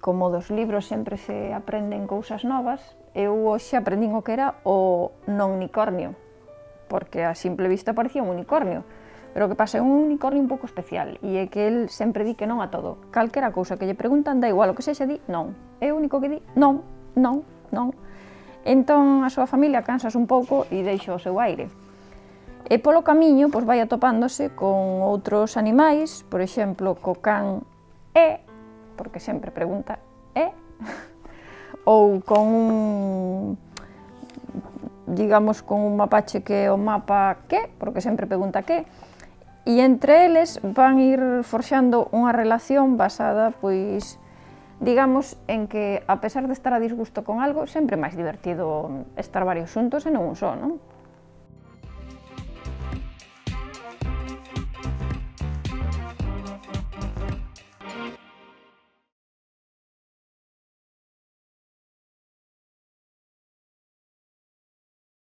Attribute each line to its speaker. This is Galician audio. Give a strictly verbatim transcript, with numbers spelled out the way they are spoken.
Speaker 1: como dos libros sempre se aprenden cousas novas, eu hoxe aprendín o que era o non unicornio, porque a simple vista parecía un unicornio, pero o que pasa é un unicornio un pouco especial, e é que el sempre di que non a todo. Calquera cousa que lle preguntan, da igual o que sexa, di non. É o único que di non, non, non. Entón a súa familia cansas un pouco e deixa o seu aire. E polo camiño pois, vai atopándose con outros animais, por exemplo, co can E, porque sempre pregunta E, ou con un, digamos, con un mapache que é o mapa que, porque sempre pregunta que, e entre eles van ir forxando unha relación basada, pois, digamos, en que, a pesar de estar a disgusto con algo, sempre é máis divertido estar varios xuntos e non un só, non?